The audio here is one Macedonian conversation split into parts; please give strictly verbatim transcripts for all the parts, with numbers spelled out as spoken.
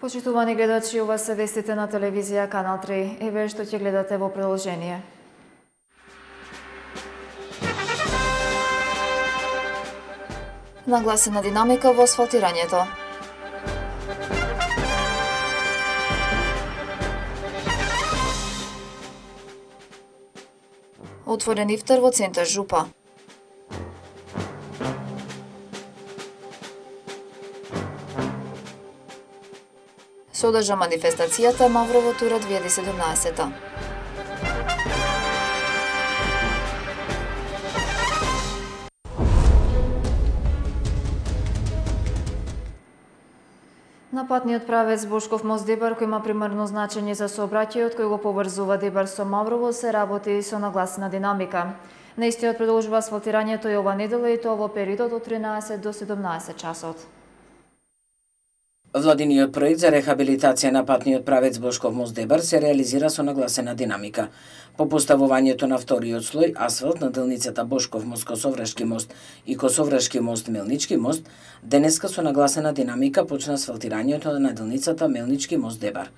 Почитувани гледачи, ова се вестите на телевизија Канал три. Еве што ќе гледате во продолжение. Нагласена динамика во асфалтирањето. Отворен ифтар во центар Жупа. Содржа манифестацијата Маврово тура две илјади и седумнаесета. На патниот правец Бошков мост-Дебар, кој има примарно значење за сообраќајот кој го поврзува Дебар со Маврово, се работи со нагласена динамика. На истиот продолжува асфалтирањето и ова недела, и тоа во периодот од тринаесет до седумнаесет часот. Владиниот проект за рехабилитација на патниот правец Бошков мост-Дебар се реализира со нагласена динамика. По поставувањето на вториот слој асфалт на делницата Бошков мост-Косоврашки мост и Косоврашки мост-Мелнички мост, денеска со нагласена динамика почна асфалтирањето на делницата Мелнички мост-Дебар.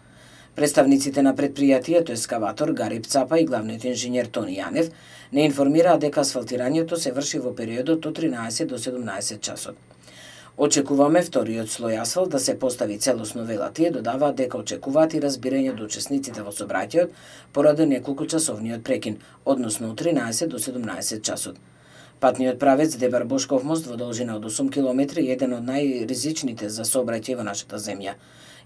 Представниците на предпријатието ескаватор Гариб Цапа и главниот инженер Тони Јанев не информираа дека асфалтирањето се врши во периодот од тринаесет до седумнаесет часот. Очекуваме вториот слој асфалт да се постави целосно, вела тие, додаваат дека очекуваат и разбирање од учесниците во сообраќајот поради неколку часовниот прекин, односно од тринаесет до седумнаесет часот. Патниот правец Дебар Бошков мост во должина од осум километри е еден од најризичните за сообраќај во нашата земја.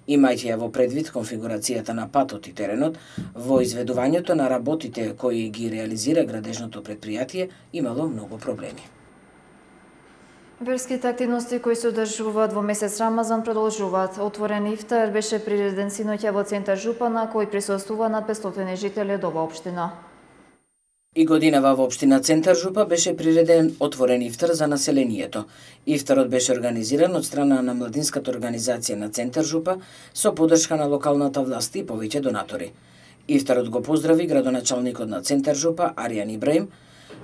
Имајќи ја во предвид конфигурацијата на патот и теренот, во изведувањето на работите кои ги реализира градежното предпријатие имало многу проблеми. Верските активности кои се одржуваат во месец Рамазан продолжуваат. Отворен ифтар беше приреден синоќа во центар Жупа, на кој присуствува над петстотини жители од ова општина. И годинава во општина Центар Жупа беше приреден отворен ифтар за населението. Ифтарот беше организиран од страна на младинската организација на Центар Жупа со поддршка на локалната власт и повеќе донатори. Ифтарот го поздрави градоначалникот на Центар Жупа Аријан Ибраим,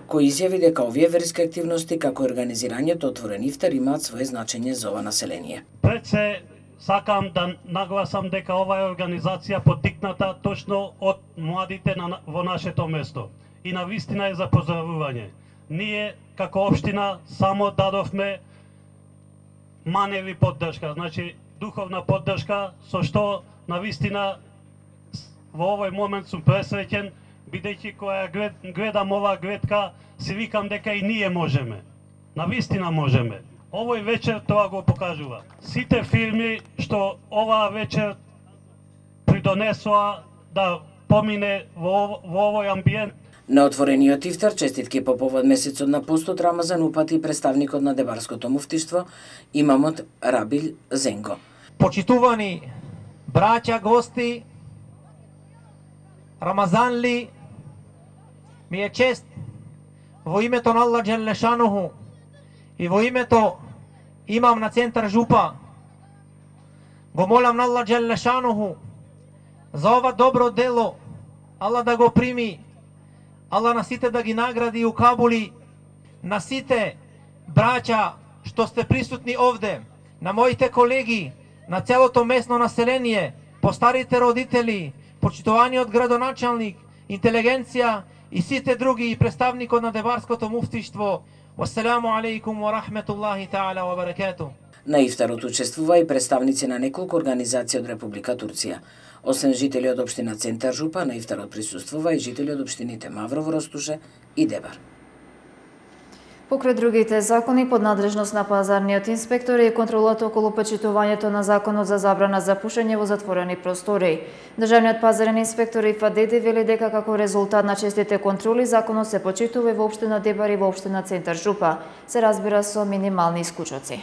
кој изјави дека овие верски активности како организирањето отворен ифтар имаат свое значење за ова население. Пред се сакам да нагласам дека ова е организација поттикната точно од младите на, во нашето место. И на вистина е за поздравување. Ние како општина само дадовме маневи поддршка, значи духовна поддршка, со што на вистина во овој момент сум пресреќен, бидејќи која гледам оваа гледка, си викам дека и ние можеме. На вистина можеме. Овој вечер тоа го покажува. Сите фирми што оваа вечер придонесоа да помине во, во овој амбиент. На отворениот ифтар честитки по повод месецот на постот Рамазан упати представникот на Дебарското муфтиштво имамот Рабил Зенго. Почитувани браќа, гости, Рамазанли, ми е чест во името на Аллах Джелешануху и во името имам на Центар Жупа, го молам на Аллах Джелешануху за ова добро дело, Аллах да го прими, Аллах на сите да ги награди и укабули, на сите браќа што сте присутни овде, на моите колеги, на целото местно население, постарите родители, почитуваниот градоначалник, интелигенција и сите други и представникот на Дебарското муфтиштво. Вассаламу алейкум ва рахметуллахи таала ва баракату. На ифтарот учествува и представници на неколку организации од Република Турција. Освен жители од општина Центар Жупа, на ифтарот присуствува и жители од општините Маврово, Ростуше и Дебар. Покрај другите закони, под надлежност на пазарниот инспектор и контролата околу почитувањето на законот за забрана за пушење во затворени простори. Државниот пазарен инспектор Ифадеде вели дека како резултат на честите контроли законот се почитува и во општина Дебар и во општина Центар Жупа, се разбира со минимални исклучоци.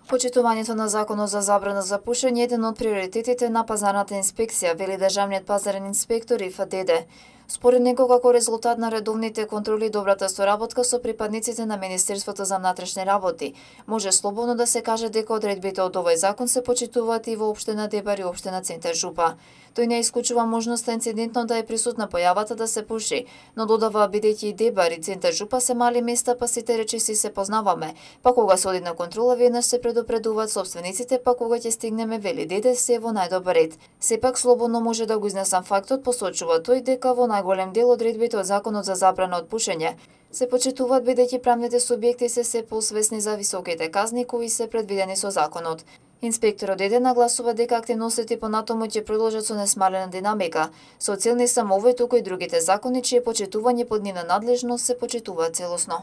Почитувањето на законот за забрана за пушење е еден од приоритетите на пазарната инспекција, вели државниот пазарен инспектор Ифадеде. Според него, како резултат на редовните контроли и добрата соработка со припадниците на Министерството за внатрешни работи, може слободно да се каже дека одредбите од овој закон се почитуваат и во општина Дебар и општина Центар Жупа. Тој не исклучува можноста инцидентно да е присутна појавата да се пуши, но додава бидејќи и Дебар и Центар Жупа се мали места, па сите речиси се познаваме, па кога се оди на контрола веднаш се предупредуваат собствениците, па кога ќе стигнеме, вели деде, се во најдобар ред. Сепак слободно може да го изнесам фактот, посочува тој, дека во најголем дел одредбите од законот за забрана од пушење се почитуваат бидејќи правните субјекти се се посвесни за високите казни кои се предвидени со законот. Инспекторот Деде нагласува дека активностите понатаму ќе продолжат со несмалена динамика, со цел не само овој, туку и другите закони чие почитување под нивна надлежност се почитуваат целосно.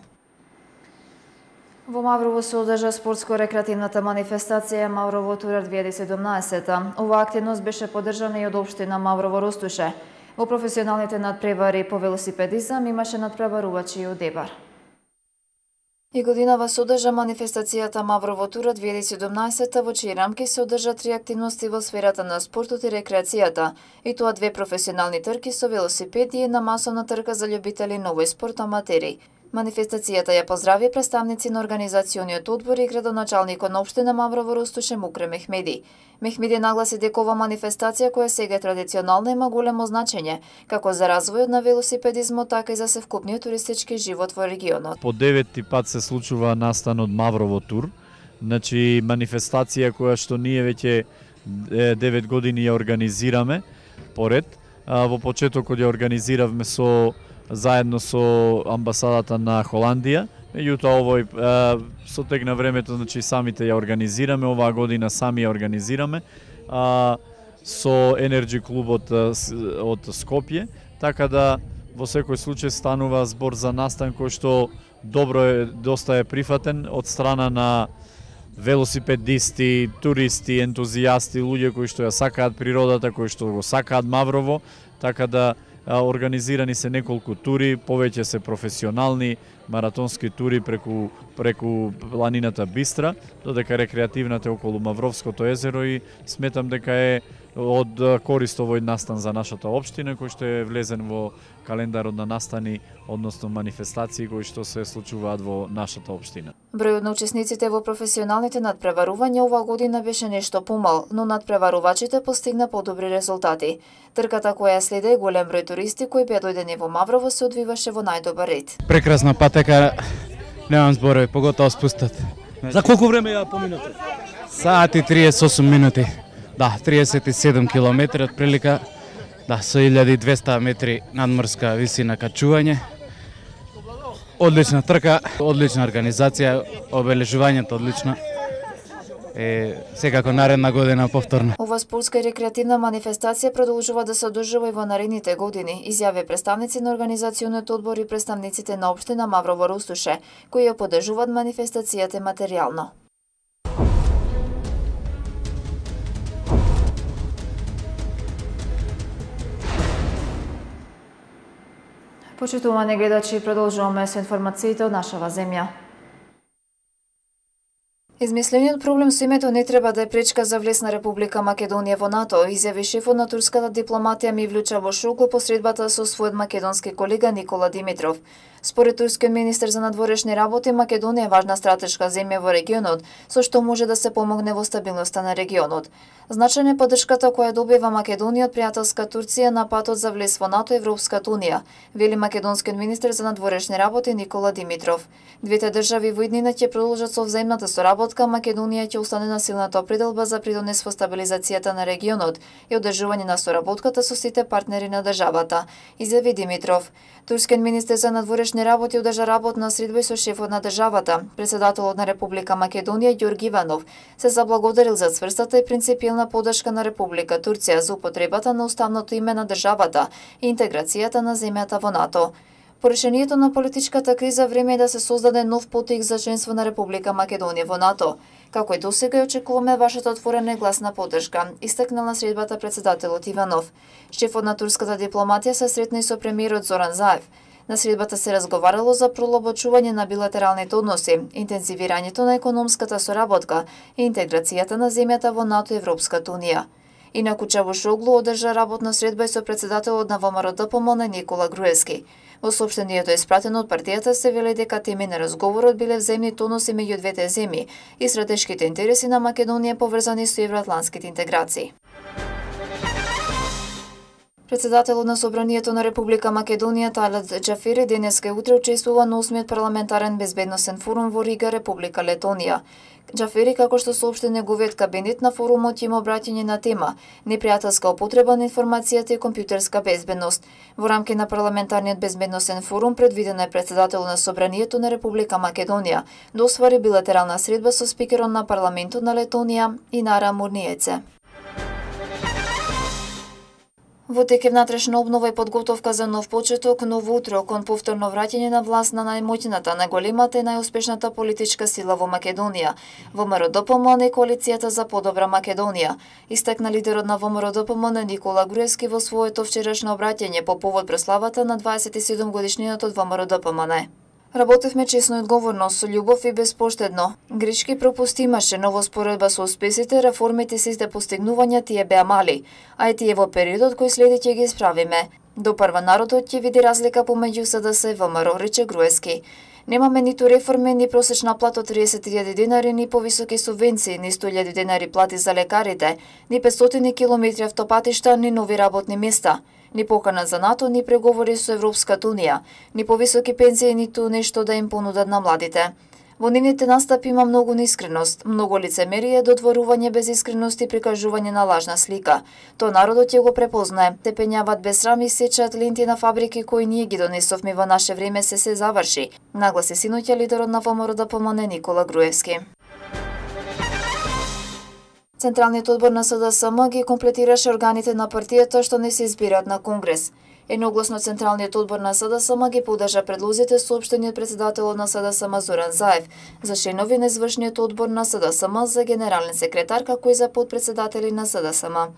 Во Маврово се одржа спортско-рекреативната манифестација Маврово Тура две илјади и седумнаесета. Оваа активност беше поддржана и од општина Маврово Ростуше. Во професионалните надпревари по велосипедизам имаше надпреварувачи и од Дебар. И годинава се одржа манифестацијата Маврово Тура две илјади и седумнаесета, во чии рамки се одржа три активности во сферата на спортот и рекреацијата, и тоа две професионални трки со велосипеди и една масовна трка за љубители на овој спорт аматери. Манифестацијата ја поздрави представници на организациониот одбор и градоначалникот на општина Маврово Ростуше Мукре Мехмеди. Мехмеди нагласи дека ова манифестација, која сега е традиционална, има големо значење, како за развојот на велосипедизмот, така и за севкупниот туристички живот во регионот. По деветти пат се случува настанот Маврово Тур, значи манифестација која што ние веќе девет години ја организираме поред. Во почетокот ја организиравме со заедно со амбасадата на Холандија. Меѓутоа овој со тек на времето, значи самите ја организираме, оваа година сами ја организираме а, со Енерджи клубот од Скопје, така да во секој случај станува збор за настан кој што добро е, доста е прифатен од страна на велосипедисти, туристи, ентузијасти, луѓе кои што ја сакаат природата, кои што го сакаат Маврово, така да организирани се неколку тури, повеќе се професионални маратонски тури преку преку планината Бистра, додека рекреативната е околу Мавровското езеро и сметам дека е од корист овој настан за нашата општина, кој што е влезен во календарот на настани, односно манифестации кои што се случуваат во нашата општина. Бројот на учесниците во професионалните надпреварувања оваа година беше нешто помал, но надпреварувачите постигна подобри резултати. Трката која следе е голем број туристи кои беа дојдени во Маврово се одвиваше во најдобар ред. Прекрасна патека, немам зборови, поготово спустат. За колку време ја поминате? Саат и триесет и осум минути. Да, триесет и седум километри отприлика. Да, со илјада и двесте метри надморска висина качување. Одлична трка, одлична организација, обележувањето одлично. Е, секако наредна година повторно. Ова спортска и рекреативна манифестација продолжува да се одржува и во наредните години, изјави представници на организациониот одбор и представниците на општина Маврово Ростуше, кои ја поддржуваат манифестацијата материјално. Почитувани гледачи, продолжуваме со информациите од нашава земја. Измислениот проблем со името не треба да е пречка за влез на Република Македонија во НАТО, изјави шефот на турската дипломатија Мивлју Чавушоглу по средбата со својот македонски колега Никола Димитров. Според турскиот министер за надворешни работи, Македонија е важна стратешка земја во регионот, со што може да се помогне во стабилноста на регионот. Значајна е поддршката која добива Македонија од пријателска Турција на патот за влез во НАТО и Европската унија, вели македонскиот министер за надворешни работи Никола Димитров. Двете држави во иднина ќе продолжат со взаимната соработка, Македонија ќе остане на силната определба за придонес во стабилизацијата на регионот и одржување на соработката со сите партнери на државата, изјави Димитров. Турскиот министер за надворешни работи одржа работна средба со шефот на државата. Претседателот на Република Македонија Ѓорги Иванов се заблагодарил за цврстата и принципијална поддршка на Република Турција за употребата на уставното име на државата и интеграцијата на земјата во НАТО. По решението на политичката криза, време е да се создаде нов потик за членство на Република Македонија во НАТО. Како и досега, очекуваме вашата отворена и гласна поддршка, истакнал на средбата претседателот Иванов. Шефот на турската дипломатија се сретна и со премиерот Зоран Заев. На средбата се разговарало за пролобочување на билатералните односи, интензивирањето на економската соработка и интеграцијата на земјата во НАТО и Европската унија. Инаку Чавушоглу одржа работна средба и со претседателот на ВМРО-ДПМН Никола Груевски. Во соопштението испратено од партијата се вели дека теми на разговорот биле взаимни тонуси меѓу двете земји и стратешките интереси на Македонија поврзани со евроатлантските интеграции. Председателот на Собранието на Република Македонија Талат Џафери денеска утре учествува на осмиот парламентарен безбедносен форум во Рига, Република Летонија. Џафери, како што соопшти неговиот кабинет, на форумот има обраќање на тема непријателска употреба на информацијата и компјутерска безбедност. Во рамки на парламентарниот безбедносен форум предвидено е председателот на Собранието на Република Македонија да оствари билатерална средба со спикерот на парламентот на Летонија Инара Мурниеце. Во тек е внатрешна обнова и подготовка за нов почеток, ново утро кон повторно враќање на власт на најмоќната, најголемата и најуспешната политичка сила во Македонија, ВМРО-ДПМН и Коалицијата за подобра Македонија, истакна лидерот на ВМРО-ДПМН Никола Груевски во своето вчерашно обраќање по повод прославата на дваесет и седум годишнината од ВМРО-ДПМН. Работевме честно и одговорно, со љубов и безпоштедно. Грешки пропусти имаше, но во споредба со успесите, реформите и сите постигнувања тие беа мали, а и тие во периодот кој следи ќе ги исправиме. Допарва народот ќе види разлика помеѓу СДС и ВМРО, рече Груевски. Немаме ниту реформи, ни просечна плата од триесет илјади денари, ни повисоки субвенции, ни сто илјади денари плати за лекарите, ни петстотини километри автопатишта, ни нови работни места. Ни покана за НАТО, ни преговори со Европската Унија, ни повисоки пензии, ниту нешто да им понудат на младите. Во нивните настапи има многу неискреност, многу лицемерие, додворување без искреност и прикажување на лажна слика. Тоа народот ќе го препознае. Те пењават без срам и сечат ленти на фабрики кои ние ги донесовме во наше време се се заврши, нагласи синоќа лидерот на ВМРО-ДПМН Никола Груевски. Централниот одбор на СДСМ ги комплетираше органите на партијата што не се избираат на Конгрес. Едногласно Централниот одбор на СДСМ ги поддржа предлозите соопштени од председателот на СДСМ Зоран Заев за членови на извршниот одбор на СДСМ, за генерален секретар, како и за подпредседатели на СДСМ.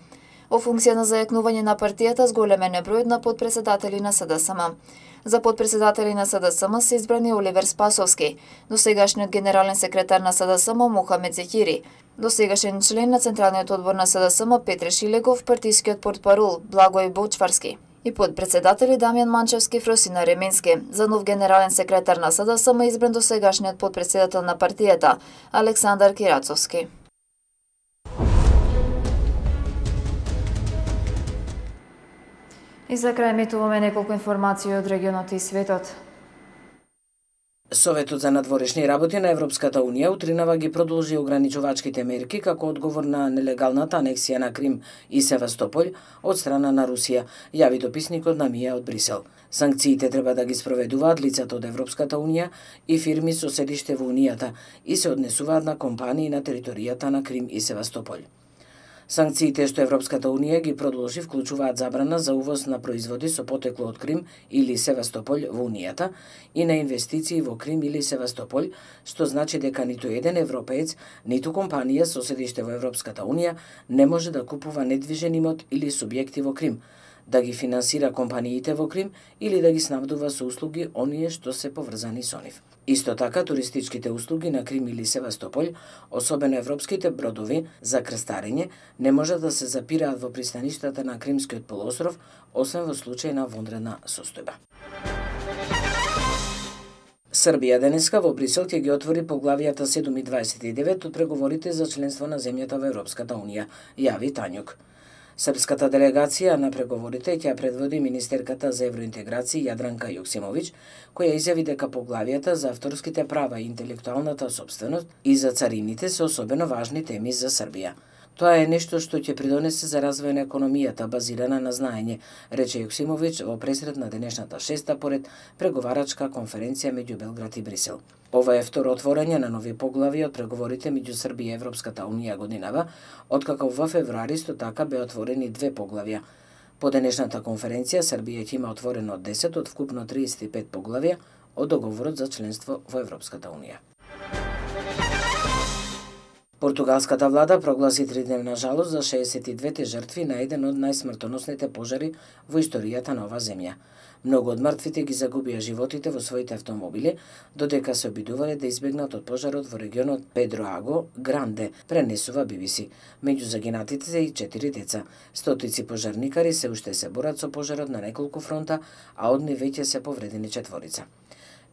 Во функција на зајакнување на партијата зголемен е бројот на подпредседатели на СДСМ. За подпредседатели на СДСМ се избрани Оливер Спасовски, досегашниот генерален секретар на СДСМ Мухамед Зехири, досегашен член на Централниот одбор на СДСМ Петре Шилегов, партискиот портпарол Благој Бочварски и подпредседатели Дамјан Манчевски, Фросина Ременски. За нов генерален секретар на СДСМ избран досегашниот подпредседател на партијата Александар Кирацовски. И за крај метуваме неколку информации од регионот и светот. Советот за надворешни работи на Европската Унија утринава ги продолжи ограничувачките мерки како одговор на нелегалната анексија на Крим и Севастополј од страна на Русија, јави дописникот на МИА од Брисел. Санкциите треба да ги спроведуваат лицата од Европската Унија и фирми со седиште во Унијата и се однесуваат на компании на територијата на Крим и Севастополј. Санкциите што Европската Унија ги продолжи вклучуваат забрана за увоз на производи со потекло од Крим или Севастополј во Унијата и на инвестиции во Крим или Севастополј, што значи дека ниту еден европеец, ниту компанија со седиште во Европската Унија не може да купува недвижен имот или субјекти во Крим, да ги финансира компаниите во Крим или да ги снабдува со услуги оние што се поврзани со нив. Исто така, туристичките услуги на Крим или Севастополј, особено европските бродови за крстарење, не може да се запираат во пристаништата на Кримскиот полуостров, освен во случај на вонредна состојба. Србија денеска во Брисел ќе ги отвори поглавијата седум и дваесет и девет од преговорите за членство на земјата во Европската Унија, јави Тањук. Српската делегација на преговорите ќе предводи министерката за евроинтеграција Јадранка Јоксимовиќ, која изјави дека поглавијата за авторските права и интелектуалната сопственост и за царините се особено важни теми за Србија. Тоа е нешто што ќе придонесе за развој на економијата базирана на знаење, рече Јоксимовиќ во пресред на денешната шеста поред преговарачка конференција меѓу Белград и Брисел. Ова е второ отворање на нови поглави од преговорите меѓу Србија и Европската Унија годинава, откако во февруари исто така беа отворени две поглавја. По денешната конференција Србија ќе има отворено десет од вкупно триесет и пет поглавја од договорот за членство во Европската Унија. Португалската влада прогласи тридневна жалост за шеесет и двете жртви на еден од најсмртоносните пожари во историјата на оваа земја. Многу од мртвите ги загубија животите во своите автомобили, додека се обидувале да избегнат од пожарот во регионот Педро Аго Гранде, пренесува Би Би Си. Меѓу загинатите се и четири деца. Стотици пожарникари се уште се борат со пожарот на неколку фронта, а од нив веќе се повредени четворица.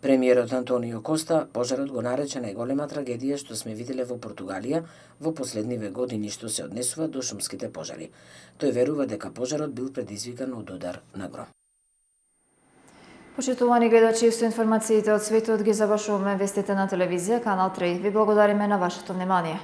Премиерот Антонио Коста пожарот го нарече најголема трагедија што сме виделе во Португалија во последниве години што се однесува до шумските пожари. Тој верува дека пожарот бил предизвикан од удар на гром. Почитувани гледачи, со информациите од светот ги завршуваме вестите на телевизија Канал три. Ви благодариме на вашето внимание.